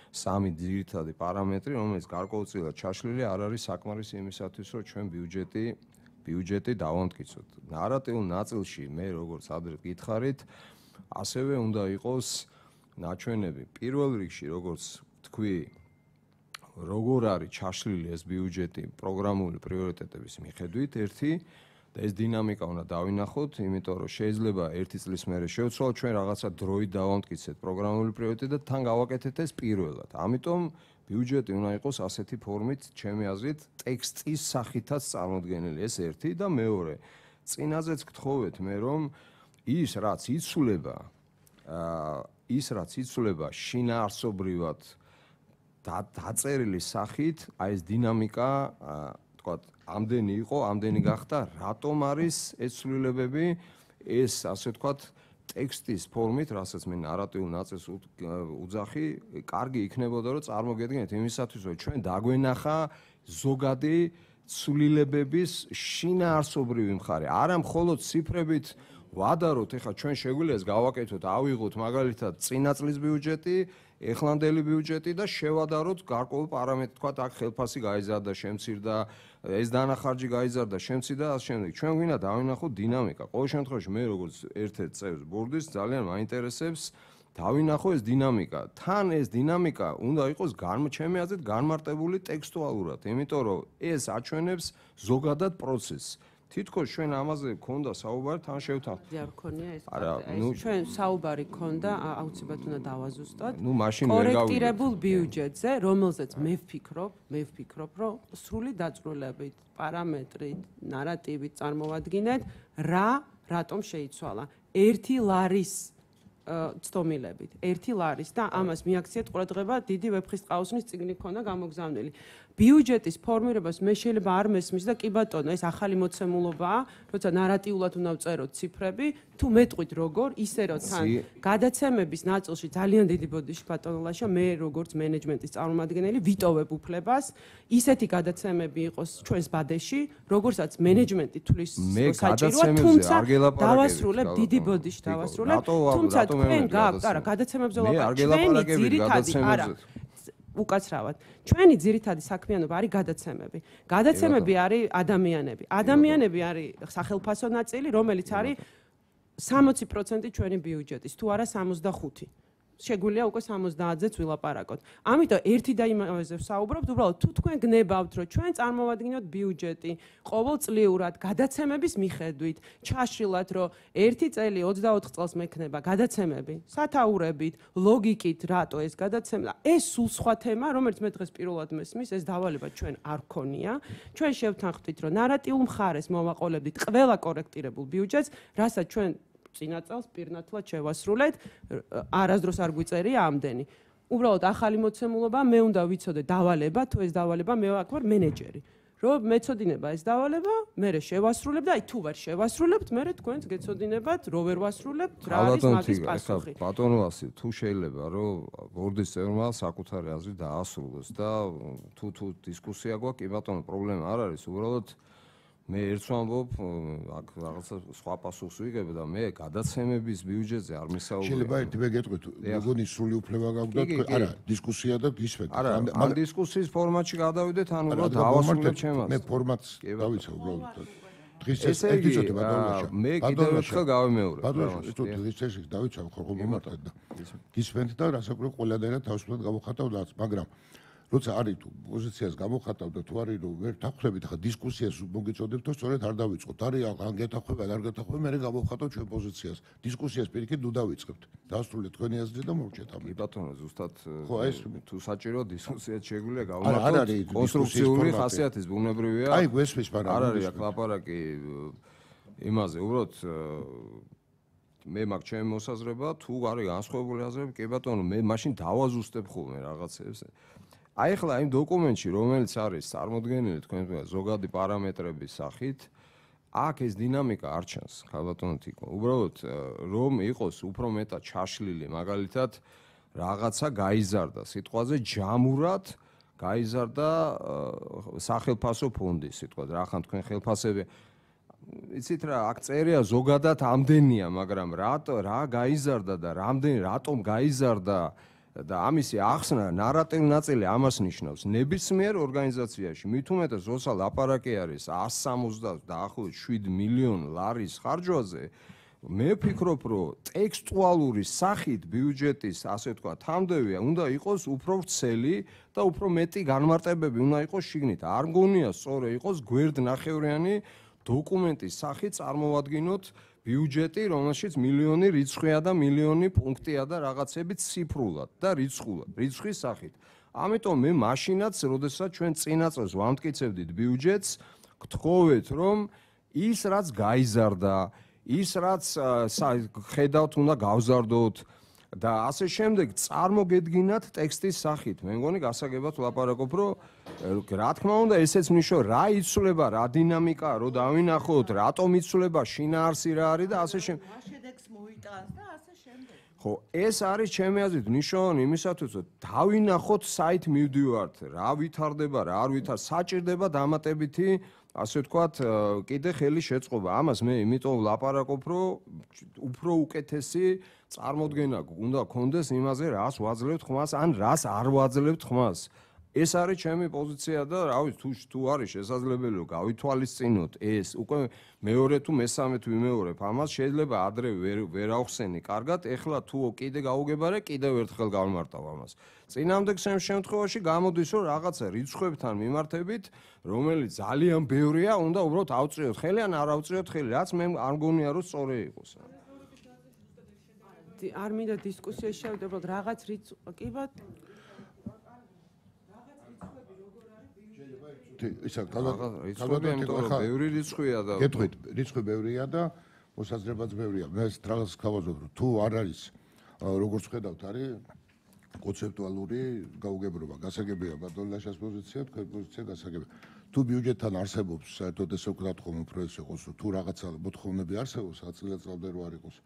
სამი ძირითადი პარამეტრი, რომელიც გარკვეულწილად ჩაშლილი არ არის საკმარისი იმისათვის, რომ ჩვენ ბიუჯეტი ბიუჯეტი დავამტკიცოთ. ნარატიულ ნაწილში მე როგორც ადრე გითხარით, ასევე უნდა იყოს ნაჩვენები. პირველ რიგში, როგორც თქვი, როგორ არის ჩაშლილი ეს ბიუჯეტი პროგრამული პრიორიტეტების მიხედვით, ერთი და ეს დინამიკა უნდა დავინახოთ, იმიტომ რომ შეიძლება ერთი წლის მერე შევცვალოთ ჩვენ რაღაცა დროით დავამტკიცეთ პროგრამული პრიორიტეტი და თან გავაკეთეთ ეს პირველად. ამიტომ ბიუჯეტი უნდა იყოს ასეთი ფორმით, ჩემი აზრით, ტექსტის სახითაც წარმოდგენილი, ეს ერთი და მეორე. წინაზეც გთხოვეთ მე რომ ის რაც იცვლება, აა ის რაც იცვლება შინაარსობრივად დაწერილი სახით, აი ეს დინამიკა, თქვათ, ამდენი იყო, ამდენი გახდა, რატომ არის ეს ცვლილებები, ეს ასე თქვათ ტექსტის ფორმით, რასაც მე ნარატიულ ნაწილს უძახი, კარგი იქნებოდა, რომ წარმოგედგენთ იმისათვის, რომ ჩვენ დაგვენახა ზოგადი ცვლილებების შინაარსობრივი მხარე. არა მხოლოდ ციფრებით ვადაროთ, ეხლა ჩვენ შეგვიძლია ეს გავაკეთოთ, ავიღოთ მაგალითად წინა წლის ბიუჯეტი, ეხლანდელი ბიუჯეტი და შევადაროთ გარკვეულ პარამეტრს, თქვათ, აქ ხელფასი გაიზარდა, შემცირდა, ეს დანახარჯი გაიზარდა, შემცირდა და ასე შემდეგ. ჩვენ გვინდა დავინახოთ დინამიკა. ყოველ შემთხვევაში მე როგორც ერთ-ერთ წევრს ბორდის ძალიან მაინტერესებს დავინახო ეს დინამიკა. თან ეს დინამიკა უნდა იყოს ჩემი აზრით განმარტებული ტექსტუალურად, იმიტომ რომ ეს აჩვენებს ზოგადად პროცესს. თითქოს ჩვენ ამაზე გქონდა საუბარი, თან შევთანხმდით. არ გქონია ეს. არა, ნუ ჩვენ საუბარი გქონდა, აუცილებლად უნდა დავაზუსტოთ. ნუ მაშინ ვერ გავიგე. კორექტირებულ ბიუჯეტზე, რომელზეც მე ვფიქრობ, მე ვფიქრობ, რომ სრული დაწვრილებით, პარამეტრით, ნარატივით წარმოვადგინეთ, რა რატომ შეიცვალა. ერთი ლარის ცდომილებით, ერთი ლარის და ამას მიაქციეთ ყურადღება დიდი ვეფხისტყაოსნის წიგნი ქონდა გამოგზავნილი. ბიუჯეტის ფორმირებას მე შეიძლება არ მესმის და კი ბატონო, ეს ახალი მოცემულობაა, როცა ნარატიულად უნდა ვწეროთ ციფრები, თუ მეტყვით როგორ, ისე რომ თან გადაცემების ნაწილში ძალიან დიდი ბოდიში ბატონო ლაშა, მე როგორც მენეჯმენტის წარმომადგენელი ვიტოვებ უფლებას, ისეთი გადაცემები იყოს ჩვენს ბადეში, როგორცაც მენეჯმენტი თulis საჭიროა, თუმცა დავასრულებ დიდი ბოდიში დავასრულებ, თუმცა თქვენ გაქვთ, არა, გადაცემებზე ვაპარაკობ, ჩვენი ძირითადი, არა უკაცრავად. ჩვენი ძირითადი საქმიანობა არის გადაცემები. გადაცემები არის ადამიანები. ადამიანები არის სახელფასო ნაწილი, რომელიც არის სამოცი პროცენტი ჩვენი ბიუჯეტის, თუ არა სამოცდახუთი. შეგვიძლია უკვე სამოცდაათზეც ვილაპარაკოთ. ამიტომ ერთი და იმაზე ვსაუბრობთ, უბრალოდ თუ თქვენ გნებავთ, რომ ჩვენ წარმოვადგინოთ ბიუჯეტი ყოველწლიურად გადაცემების მიხედვით, ჩაშრილად, რომ ერთი წელი ოცდაოთხ წელს მექნება გადაცემები, სათაურებით, ლოგიკით, რატო ეს გადაცემა, ეს სულ სხვა თემა, რომელიც მე დღეს პირველად მესმის, ეს დავალება ჩვენ არ გქონია. ჩვენ შევთანხმდით, რომ ნარატიულ მხარეს მოვაყოლებდით ყველა კორექტირებულ ბიუჯეტს, რასაც ჩვენ წინა წელს პირნათლად შევასრულეთ, არასდროს არ გვიწერია ამდენი. უბრალოდ ახალი მოცემულობა, მე უნდა ვიცოდე დავალება, თუ ეს დავალება მე აქ ვარ მენეჯერი. რომ მეწოდინება ეს დავალება, მე შევასრულებ და აი თუ ვერ შევასრულებთ, მე თქვენც გეწოდინებათ, რო ვერ ვასრულებთ, რა არის მაგის პასუხი. ბატონო ასი, თუ შეიძლება რომ ბორდის წევრმა საკუთარი აზრი დაასრულოს და თუ თუ დისკუსია გვაქვს, კი ბატონო, პრობლემა არ არის, უბრალოდ მე ერთს ვამბობ, აქ რაღაცა სხვა პასუხს ვიგებ და მე გადაცემების ბიუჯეტზე არ მისაუბრებ. შეიძლება ერთი მე გეტყვით, მეგონი სრული უფლება გაქვს და არა, დისკუსია და გისვეთ. არა, ამ დისკუსიის ფორმატში გადავიდეთ, ანუ რა დავასრულებ ჩემას. მე ფორმატს დავიცავ უბრალოდ. დღის ეს ეს იცოდე ბატონო. მე კიდევ ერთხელ გავემეორებ. ბატონო, თუ დღის ეს დავიცავ ხოლმე მომარტად და გისვენთ და რასაკვირველია ყველადერად თავისუფლად გამოვხატავ და მაგრამ როცა არის თუ პოზიციას გამოხატავ და თუ არის რომ ვერ თანხმებით ხა დისკუსიას მოგიწოდებთ თუ სწორედ არ დავიწყოთ არის ან გეთანხმება არ გეთანხმება მე გავხატავ ჩვენ პოზიციას დისკუსიას პირიქით ნუ დავიწყებთ დასრულეთ თქვენი აზრი და მოვჭეთ ამ ბატონო ზუსტად ხო ეს თუ საჭირო დისკუსიაც შეგვიძლია გავმართოთ კონსტრუქციული ხასიათის ბუნებრივია აი გვესმის მაგრამ არ არის აქ ლაპარაკი იმაზე უბრალოდ მე მაგ ჩემი მოსაზრება თუ არის განსხვავებული აზრები კი ბატონო მე მაშინ დავაზუსტებ ხოლმე რაღაცებს აი ახლა იმ დოკუმენტში რომელიც არის წარმოდგენილი თქვენ ზოგადი პარამეტრების სახით აქ ეს დინამიკა არ ჩანს ხალბატონო თიკო უბრალოდ რომ იყოს უფრო მეტად ჩაშლილი მაგალითად რაღაცა გაიზარდა სიტყვაზე ჯამურად გაიზარდა სახელფასო ფონდი სიტყვაზე რა ხან თქვენ ხელფასები იცით რა აქ წერია ზოგადად ამდენია მაგრამ რატო რა გაიზარდა და რამდენი რატომ გაიზარდა და ამისი ახსნა ნარატიული ნაწილი ამას ნიშნავს ნებისმიერ ორგანიზაციაში მით უმეტეს როცა ლაპარაკი არის εκατს სამოცდაათ დაახლოებით შვიდ მილიონ ლარის ხარჯვაზე მე ვფიქრობ რომ ტექსტუალური სახით ბიუჯეტის ასე თქვა თამდევია უნდა იყოს უფრო ვრცელი და უფრო მეტი განმარტებები უნდა იყოს შიგნით არ მგონია სწორი იყოს გვერდნახევრიანი დოკუმენტის სახით წარმოვადგინოთ ბიუჯეტი, რომელშიც მილიონი რიცხვია და მილიონი პუნქტია და რაღაცები ციფრულად და რიცხულად, რიცხვის სახით. ამიტომ მე მაშინაც, როდესაც ჩვენ წინა წელს ვამტკიცებდით ბიუჯეტს, გთხოვეთ, რომ ის რაც გაიზარდა, ის რაც ხედავთ უნდა გავზარდოთ და ასე შემდეგ წარმოგედგინათ ტექსტის სახით. მე მგონი გასაგებად ვლაპარაკობ, რომ რა თქმა უნდა ესეც ნიშნავს რა იცვლება, რა დინამიკაა, რომ დავინახოთ, რატომ იცვლება, შინაარსი რა არის და ასე შემდეგ. რა შედეგს მოიტანს და ასე შემდეგ. ხო, ეს არის ჩემი აზრით ნიშნავენ იმისათვის, რომ დავინახოთ საით მივდივართ, რა ვითარდება, რა არ ვითარ, საჭირდება დამატებითი ასე ვთქვათ, კიდე ხელი შეწყობა. ამას მე იმიტომ ვლაპარაკობ, რომ უფრო უკეთესი წარმოდგენა უნდა გქონდეს იმაზე, რას ვაძლევთ ხმას, ან რას არ ვაძლევთ ხმას. ეს არის ჩემი პოზიცია და რავი თუ თუ არის შესაძლებელი რომ გავითვალისწინოთ ეს უკვე მეორე თუ მესამე თუ ვიმეორებ ამას შეიძლება ადრე ვერ ვერ ავხსენი კარგად ეხლა თუ კიდე გაუგებარე კიდევ ერთხელ გავმარტავ ამას წინამდე შემთხვევაში გამოდის რომ რაღაცა რიცხვებთან მიმართებით რომელიც ძალიან ბევრია უნდა უბრალოდ ავწიოთ ხელი ან არ ავწიოთ ხელი რაც მე არ მგონია რომ სწორი იყოს არ მინდა დისკუსიაში შევიდე უბრალოდ რაღაც რიცხვ კი ბატ ისა რიცხვები ბევრი რიცხვია და გეტყვით რიცხვი ბევრია და მოსაზრებაც ბევრია მე რაღაც გავაზრდ რომ თუ არ არის როგორც ხედავთ არის კონცეპტუალური გაუგებრობა გასაგებია ბატონლაშას პოზიცია თქვენ პოზიცია გასაგებია თუ ბიუჯეტთან არსებობს საერთოდ ესე ვქნათ ხომ უფრო ეს იყოს თუ რაღაცა მოთხოვნები არსებობს აწილეწლავდე რო არ იყოს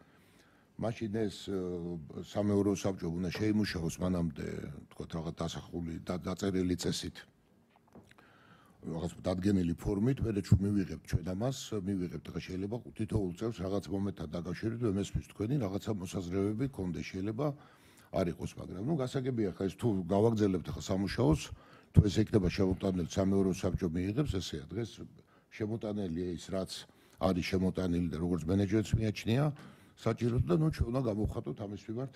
მაშინ ეს სამეურო საბჭო უნდა შეიმუშაოს მანამდე თქვა რაღაც დასახული და დაწერილი წესით რაღაც დადგენილი ფორმით მე ჩვენ მივიღებთ ჩვენ ამას მივიღებთ ხა შეიძლება თითოეულ წელს რაღაც მომენტთან დაკავშირებით მესმის თქვენი რაღაცა მოსაზრებები გქონდეს შეიძლება არ იყოს მაგრამ ნუ გასაგებია ხა ეს თუ გავაგზავნებთ ხა სამუშაოს თუ ეს იქნება შემოტანილი სამეურო საბჭო მიიღებს ესეა დღეს შემოტანილი ის რაც არის შემოტანილი და როგორც მენეჯერიც მიაჩნია საჭიროდ და ნუ ჩვენ უნდა გამოვხატოთ ამის მიმართ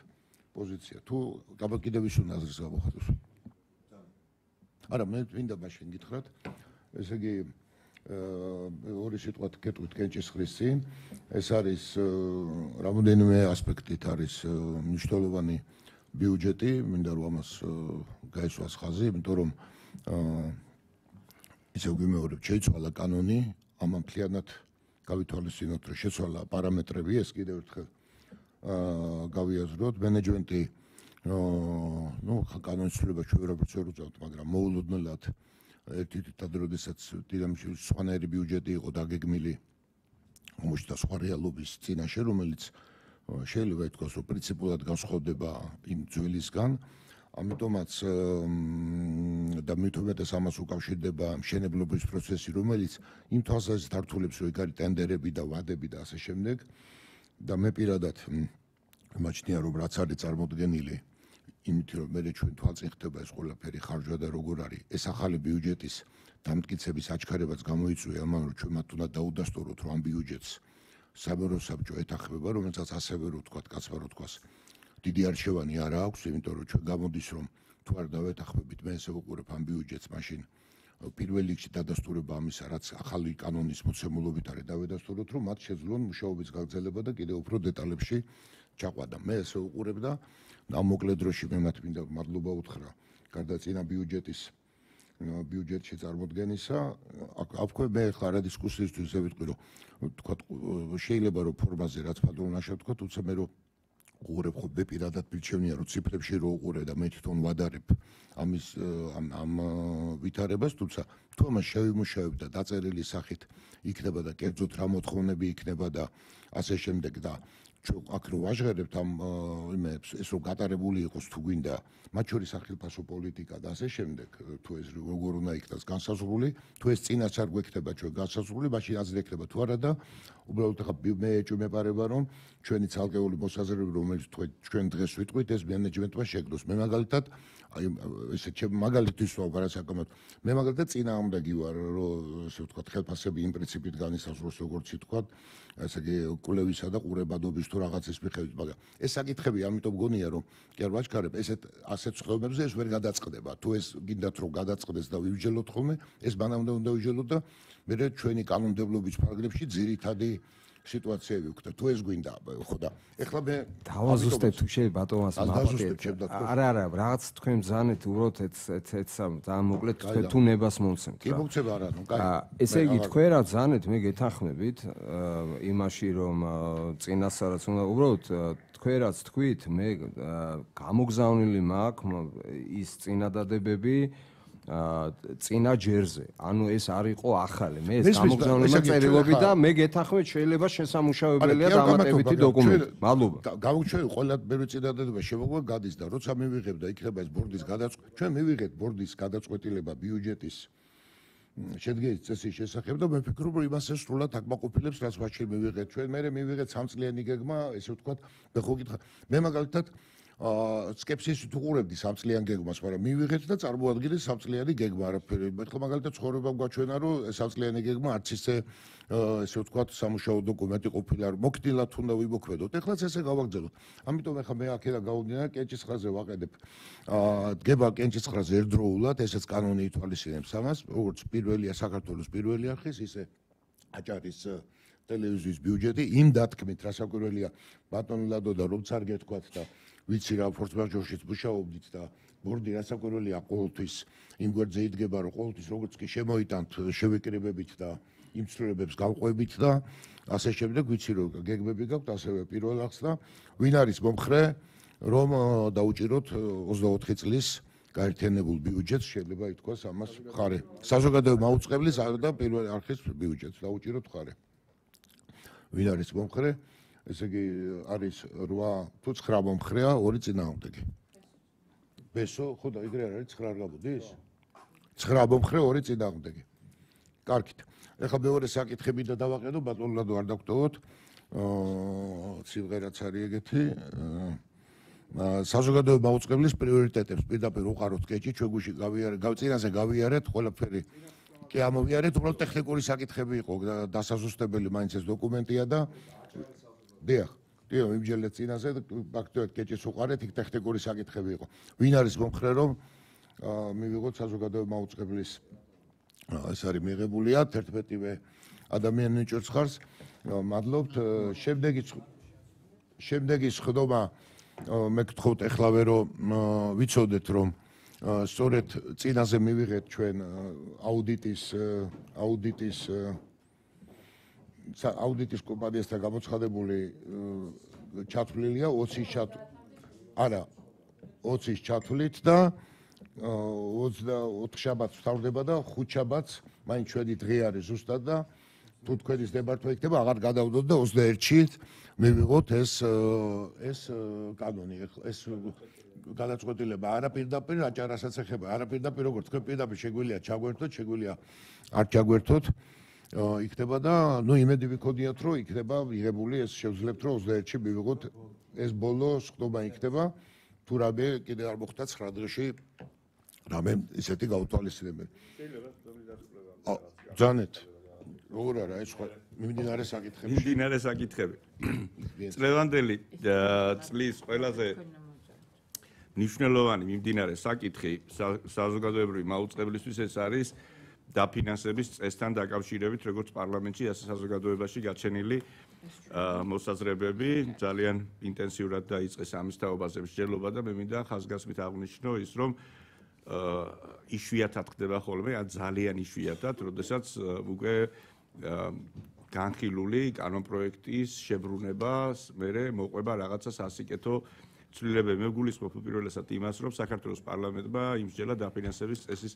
პოზიცია თუ კიდევ ის უნდა აზრს გამოვხატოს არა მე მინდა მაშინ გითხრათ ესე იგი ორი სიტყვა გეტყვით კენჭისყრის წინ ეს არის რამოდენიმე ასპექტით არის მნიშვნელოვანი ბიუჯეტი მინდა რომ ამას გაესვას ხაზი იმიტომ რომ ისე ვიმეორებ შეიცვალა კანონი ამან მთლიანად გავითვალისწინოთ რომ შეცვალა პარამეტრები ეს კიდევ ერთხელ გავიაზროთ მენეჯმენტი ну კანონის ცვლილება ჩვენ ვერაფერს ვერ უწევთ მაგრამ მოულოდნელად ერთი თითად როდესაც დინამიში სხვანაირი ბიუჯეტი იყო დაგეგმილი ომში და სხვა რეალობის წინაშე რომელიც შეიძლება ითქვას რომ პრინციპულად განსხვავდება იმ ძველისგან ამიტომაც და მithumetes ამას უკავშირდება მშენებლობის პროცესი რომელიც იმ თვალსაზრისით ართულებს რომ იქ არის ტენდერები და ვადები და ასე შემდეგ და მე პირადად მაჩნია რომ რაც არის წარმოდგენილი იმით რომ მე ჩვენ თვალწინ ხდება ეს ყველაფერი ხარჯვა და როგორ არის ეს ახალი ბიუჯეტის დამტკიცების აჩქარებაც გამოიწვია ამან რომ ჩვენ მათ უნდა დაუდასტუროთ რომ ამ ბიუჯეტს სამეურო საბჭო ეთახმება რომელსაც ასევე რო თქვა კაცმა რო თქვას დიდი არჩევანი არ აქვს იმიტომ რომ ჩვენ გამოდის რომ თუ არ დავეთახმებით მე ესე ვუყურებ ამ ბიუჯეტს მაშინ პირველ რიგში დადასტურება ამისა რაც ახალი კანონის მოცემულობით არის დავედასტუროთ რომ მათ შეძლონ მუშაობის გაგრძელება და კიდევ უფრო დეტალებში ჩაყვანა მე ესე ვუყურებ და ამ მოკლე დროში მე მათ მინდა მადლობა უთხრა გარდა წინა ბიუჯეტის ბიუჯეტში წარმოდგენისა აქ მე ხარ რა დისკუსიისთვის ვიტყვი რომ თქვა შეიძლება რომ ფორმაზე რაც პატრონაშა თქვა თუმცა მე რომ უყურებ ხო მე პირადად მირჩევნია რომ ციფრებში რო უყურე და მე თვითონ ვადარებ ამის ამ ამ ვითარებას თუმცა თუ ამას შევიმუშავებ და დაწერილი სახით იქნება და კერძოდ რა მოთხოვნები იქნება და ასე შემდეგ და ჩვენ აქ რო ვაჟღერებთ ამ იმებს ეს რო გატარებული იყოს თუ გვინდა მათ შორის სახელმწიფო პოლიტიკა და ასე შემდეგ თუ ეს როგორ უნდა იქნას განსაზღვრული თუ ეს წინაც არ გვექნება ჩვენ განსაზღვრული მაშინ აზრი ექნება თუ არა და უბრალოდ ახლა მე ეჭვმეპარება რომ ჩვენი ცალკეული მოსაზრებები რომელიც ჩვენ დღეს ვიტყვით ეს მენეჯმენტმა შეგდოს მე მაგალითად აი ესე ჩემ მაგალითის ვარ საკამოთ მე მაგალითად წინააღმდეგი ვარ რომ ესე ვთქვათ ხელფასები იმ პრინციპით განისაზღვროს როგორც ითქვათ ესე იგი კვლევისა და ყურებადობის თუ რაღაცის მიხედვით მაგრამ ეს საკითხები ამიტომ გონია რომ კი არ ვაჩქარებ ესეთ ასეთ ცხოვრებებზე ეს ვერ გადაწყდება თუ ეს გინდათ რომ გადაწყდეს და ვივიჯელოთ ხოლმე ეს მანამდე უნდა ვიჯელოთ და მე ჩვენი კანონმდებლობის პარაგრაფში ძირითადი სიტუაციები ვქნა თუ ეს გვინდა ხო და ეხლა მე დავაზუსტებ თუ შეიძლება ბატონას მაპატეთ არა არა რაღაც თქვენ ბზანეთ უბრალოდ ეს ეს ძალიან მოკლედ თქვენ თუ ნებას მომცემთ კი მომცემ არა ნუ კაი ესე იგი თქვენ რა ბზანეთ მე გეთანხმებით იმაში რომ წინასწარაც უნდა უბრალოდ თქვენ რაც თქვით მე გამოგზავნილი მაქვს ის წინადადებები წინა ჯერზე. ანუ ეს არ იყო ახალი. მე ეს გამოგზავნილი წერილობი და მე გეთანხმეთ შეიძლება შესამუშავებელია დამატებითი დოკუმენტი. მადლობა. გავუჩვენე ყველა ბევრი წინადადება შემოგვა გადის და როცა მივიღებ და იქნება ეს ბორდის გადაწყვეტილება, ჩვენ მივიღეთ ბორდის გადაწყვეტილება ბიუჯეტის შედგენის წესის შესახებ და მე ვფიქრობ რომ იმას ეს სრულად აკმაყოფილებს რაც მაშინ მივიღეთ ჩვენ მე მივიღეთ სამწლიანი გეგმა ესე ვთქვათ მე ხო გითხრა მე მაგალითად სკეპსისით უყურებდი სამწლიან გეგმას, მაგრამ მივიღეთ და წარმოადგინეთ სამწლიანი გეგმა, არაფერი. ეხლა მაგალითად ცხოვრება გვაჩვენა, რომ სამწლიანი გეგმა არც ისე ესე ვთქვათ, სამუშაო დოკუმენტი ყოფილა, რომ მოქნილად უნდა ვიმოქმედოთ. ეხლაც ესე გავაგზავნოთ. ამიტომ ეხლა მე აქედან გავუდინარ კენჭისყრაზე ვაყედებ. აა დგება კენჭისყრაზე ერთდროულად, ესეც კანონი ითვალისწინებს ამას, როგორც პირველია საქართველოს პირველი არხის, ისე აჭარის ტელევიზიის ბიუჯეტი იმ დათქმით, რასაკვირველია, ბატონ ლადო და რომ არ გეთქვათ და ვიცი რა ფორსმაჟორშიც მუშაობდით და ბორდი რასაკვირველია ყოველთვის იმ გვერდზე იდგება, რომ ყოველთვის როგორც კი შემოიტანთ შევიკრიბებით და იმ ცვლილებებს გავყვებით და ასე შემდეგ, ვიცი რომ გეგმები გაქვთ ასევე პირველ აღს და ვინ არის მომხრე, რომ დაუჭიროთ ოცდაოთხი წლის გაერთიანებულ ბიუჯეტს, შეიძლება ითქვას ამას მხარე. საზოგადოებრივი მაუწყებლის და პირველი არხის ბიუჯეტს დაუჭიროთ მხარე. ვინ არის მომხრე? ესე იგი არის რვა თუ ცხრა მომხრეა, ორი წინააღმდეგი. ბესო, ხო და ეგრე არ არის ცხრა არ გამოდის? ცხრა მომხრე, ორი წინააღმდეგი. კარგით. ეხლა მეორე საკითხები და დავაყენო, ბატონ ლადო არ დაგტოვოთ. აა სიმღერაც არის ეგეთი. საზოგადოებრივი მაუწყებლის პრიორიტეტებს პირდაპირ უყაროთ კეჭი, ჩვენ გუში გავიარეთ, გავწინაზე გავიარეთ ყველაფერი. კი ამოვიარეთ, უბრალოდ ტექნიკური საკითხები იყო, დასაზუსტებელი მაინც ეს დოკუმენტია და დიახ, დიახ, იმჯერეთ წინაზე ფაქტობრივად კეჭის უყარეთ, იქ ტექნიკური საკითხები იყო. ვინ არის მომხრე, რომ მივიღოთ საზოგადოებრივი მაუწყებლის ეს არის მიღებულია თერთმეტივე ადამიანი ჭერს ხარს. მადლობთ. შემდეგი შემდეგი სხდომა მე გთხოვთ ეხლავე რომ ვიცოდეთ რომ სწორედ წინაზე მივიღეთ ჩვენ აუდიტის აუდიტის აუდიტის კომპანიასთან გამოცხადებული ჩათვლილია ოცის ჩათვლით არა ოცის ჩათვლით და ოცდაოთხ შაბათს ვთავრდება და ხუთ შაბათს მაინც ჩვენი დღე არის ზუსტად და თუ თქვენის დებართვა იქნება აღარ გადავდოთ და ოცდაერთში მივიღოთ ეს ეს კანონი ეს გადაწყვეტილება არა პირდაპირ აჭარასაც ეხება არა პირდაპირ როგორც თქვენ პირდაპირ შეგვიძლია ჩაგვერთოთ შეგვიძლია არ ჩაგვერთოთ იქნება და ნუ იმედი ვიქონიათ რომ იქნება მიღებული ეს შევძლებთ რომ ოცდაერთში მივიღოთ ეს ბოლო სხდომა იქნება თუ რამე კიდე არ მოხდა ცხრა დღეში რამე ისეთი გაუთვალისწინებელი ძანეთ როგორ არა ეს სხვა მიმდინარე საკითხები მიმდინარე საკითხები წლევანდელი წლის ყველაზე მნიშვნელოვანი მიმდინარე საკითხი საზოგადოებრივი მაუწყებლისთვის ეს არის დაფინანსების წესთან დაკავშირებით როგორც პარლამენტში ასე საზოგადოებაში გაჩენილი მოსაზრებები ძალიან ინტენსიურად დაიწყეს ამის თაობაზე მსჯელობა და მე მინდა ხაზგასმით აღვნიშნო ის რომ იშვიათად ხდება ხოლმე ან ძალიან იშვიათად როდესაც უკვე განხილული კანონპროექტის შებრუნება მერე მოყვება რაღაცა სასიკეთო ცვლილებები მე გულისხმობ უპირველესად იმას რომ საქართველოს პარლამენტმა იმსჯელა დაფინანსების წესის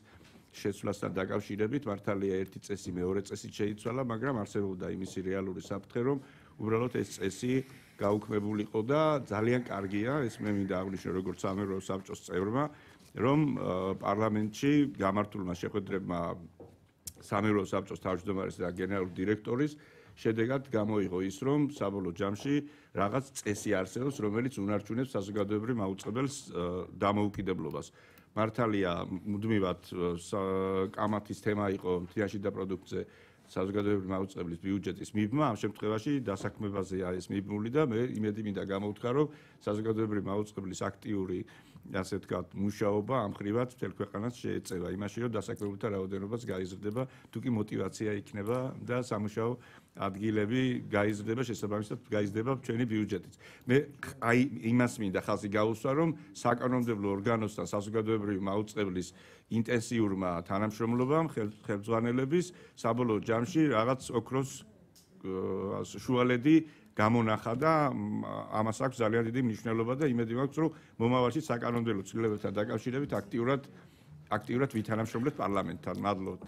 შეცვლასთან დაკავშირებით მართალია ერთი წესი მეორე წესით შეიცვალა მაგრამ არსებობდა იმისი რეალური საფრთხე რომ უბრალოდ ეს წესი გაუქმებულიყო და ძალიან კარგია ეს მე მინდა აღვნიშნო როგორც სამეურვეო საბჭოს წევრმა რომ პარლამენტში გამართულმა შეხვედრებმა სამეურვეო საბჭოს თავმჯდომარის და გენერალური დირექტორის შედეგად გამოიღო ის რომ საბოლოო ჯამში რაღაც წესი არსებობს რომელიც უნარჩუნებს საზოგადოებრივ მაუწყებელს დამოუკიდებლობას მართალია მუდმივად კამათის თემა იყო მთლიანში და პროდუქტზე საზოგადოებრივი მაუწყებლის ბიუჯეტის მიბმა ამ შემთხვევაში დასაქმებაზეა ეს მიბმული და მე იმედი მინდა გამოვთქვა რომ საზოგადოებრივი მაუწყებლის აქტიური ასე ვთქვათ მუშაობა ამ ხრივად მთელ ქვეყანას შეეწევა იმაში რომ დასაქმებულთა რაოდენობაც გაიზრდება თუ კი мотиваცია იქნება და სამუშაო ადგილები გაიზრდება შესაბამისად გაიზრდება ჩვენი ბიუჯეტიც მე აი იმას მინდა ხალხი გაუსვა რომ საკანონმდებლო ორგანოსთან საზოგადოებრივი მაუწყებლის ინტენსიურმა თანამშრომლობამ ხელმძღვანელების საბოლოო ჯამში რაღაც ოქროს შუალედი გამონახა და ამას აქვს ძალიან დიდი მნიშვნელობა და იმედი მაქვს რომ მომავალში საკანონმდებლო ცვლილებებთან დაკავშირებით აქტიურად აქტიურად ვითანამშრომლებთ პარლამენტთან მადლობთ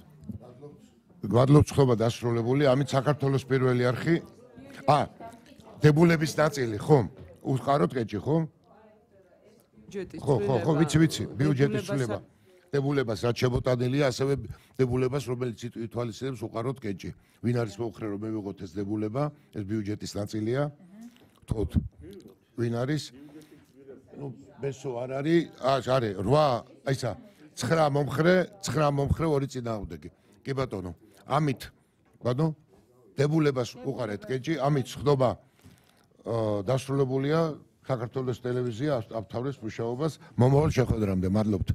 მადლობთ ხობა დასრულებული ამით საქართველოს პირველი არხი ა დებულების ნაწილი ხომ უყაროთ კეჭი ხომ ხო ხო ხო ვიცი ვიცი ბიუჯეტის ცვლილება დებულებას რაც შემოტანილია ასევე დებულებას რომელიც ითვალისწინებს უყაროთ კეჭი ვინ არის მომხრე რომ მივიღოთ ეს დებულება ეს ბიუჯეტის ნაწილია თოთ ვინ არის ნუ ბესო არ არის, აა არის რვა, აი ისა ცხრა მომხრე, ცხრა მომხრე ორი წინააღმდეგი. კი ბატონო. ამით ბატონო დებულებას უყარეთ კეჭი, ამით ხდობა აა დასრულებულია საქართველოს ტელევიზია აფთავრებს მუშაობას მომავალ შეხვედრამდე. მადლობთ.